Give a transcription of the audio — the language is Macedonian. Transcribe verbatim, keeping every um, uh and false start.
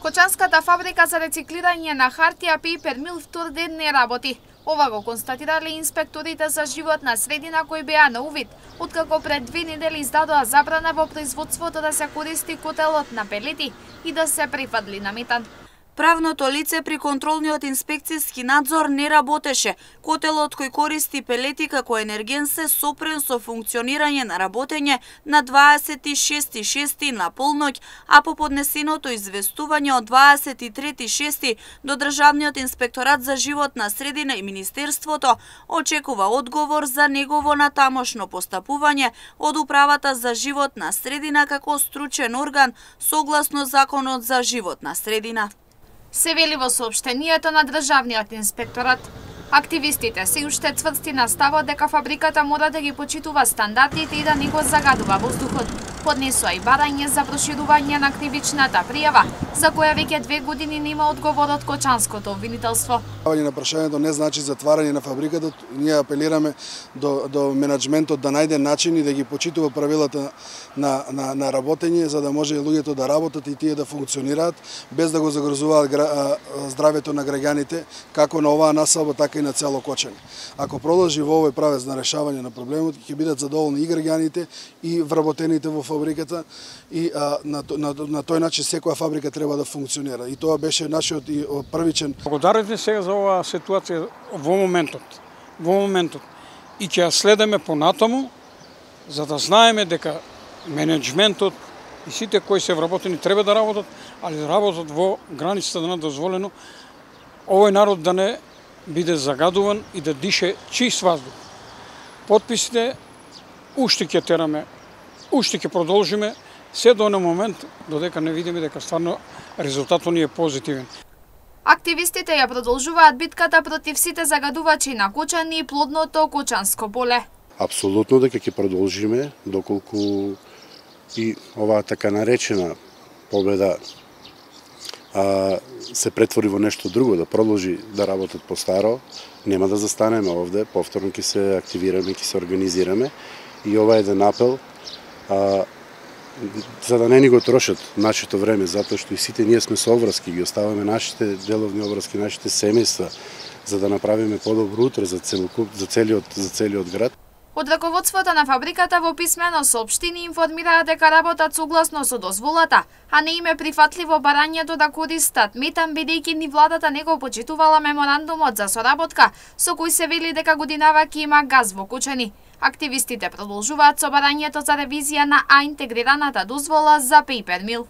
Кочанската фабрика за рециклирање на хартија Paper Mill втор ден не работи. Ова го констатирале инспекторите за животна средина кои беа на увид, откако пред две недели издадоа забрана во производството да се користи котелот на пелети и да се прифадли на метан. Правното лице при контролниот инспекцијски надзор не работеше. Котелот кој користи пелети како енерген се сопрен со функционирање на работење на дваесет и шести јуни на полноќ, а по поднесеното известување од дваесет и трети јуни до Државниот инспекторат за животна средина и Министерството очекува одговор за негово натамошно постапување од Управата за животна средина како стручен орган согласно Законот за животна средина. Се вели во соопштението на Државниот инспекторат. Активистите се уште цврсти на ставот дека фабриката мора да ги почитува стандардите и да не го загадува воздухот. Поднесоа и барање за проширување на кривичната пријава, за која веќе две години нема одговор од Кочанското обвинителство. На прашањето не значи затварање на фабриката. Ние апелираме до, до менаџментот да најде начин и да ги почитува правилата на, на, на работење, за да може луѓето да работат и тие да функционираат, без да го загрозуваат гра, здравјето на граѓаните, како на оваа населба, така и на цело Кочани. Ако продолжи во овој правец на решавање на проблемот, ќе бидат задоволни и граѓаните и вработените во фабриката и а, на, на, на тој начин секоја фабрика треба да функционира. И тоа беше нашиот и првичен. Благодарите сега за оваа ситуација во моментот. Во моментот. И ќе ја следиме понатаму, за да знаеме дека менеджментот и сите кои се вработени треба да работат, али да работат во границата на дозволено, овој народ да не биде загадуван и да дише чист воздух. Потписите уште ќе тераме, уште ќе продолжиме се до оној момент додека не видиме дека стварно резултатот ни е позитивен. Активистите ја продолжуваат битката против сите загадувачи на Кочани и плодното Кочанско поле. Апсолутно дека ќе продолжиме доколку и оваа така наречена победа а, се претвори во нешто друго, да продолжи да работат по старо, нема да застанеме овде, повторно ќе се активираме, ќе се организираме и ова е еден апел а, за да не ни го трошат нашето време, затоа што и сите ние сме со обврски, ги оставаме нашите деловни обврски, нашите семејства, за да направиме подобро утре за целокуп, за целиот за целиот град. Од раководството на фабриката во писмено соопштение информираа дека работат согласно со дозволата, а не им е прифатливо барањето да користат метан, бидејќи ни владата не го почитувала меморандумот за соработка, со кој се вели дека годинава ќе има газ во Кочани. Активистите продолжуваат со барањето за ревизија на А интегрираната дозвола за Paper Mill.